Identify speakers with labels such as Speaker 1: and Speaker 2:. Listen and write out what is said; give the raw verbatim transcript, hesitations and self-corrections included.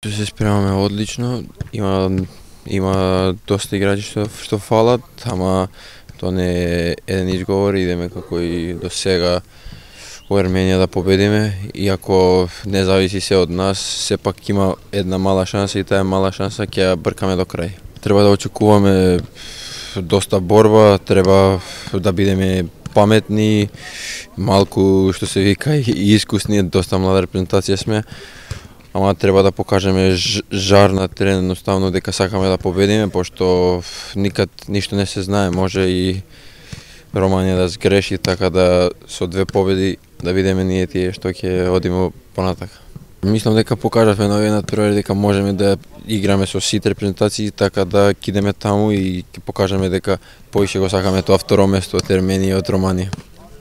Speaker 1: Се спремаме одлично, има има доста играчи што што фалат, ама тоа не е еден изговор, идеме како и до сега во Ерменија да победиме, иако не зависи се од нас, сепак има една мала шанса и таа мала шанса ќе ја бркаме до крај. Треба да очекуваме доста борба, треба да бидеме паметни, малку што се вика и искусни, доста млада репрезентација сме. Ама треба да покажеме жар на терен, едноставно дека сакаме да победиме, пошто никад ништо не се знае, може и Романија да сгреши, така да со две победи да видиме ние тие што ќе одиме понатака. Мислам дека покажавме на овој надпревар дека можеме да играме со сите репрезентации, така да ќе идеме таму и ќе покажеме дека повише го сакаме тоа второ место од Ерменија и од Романија.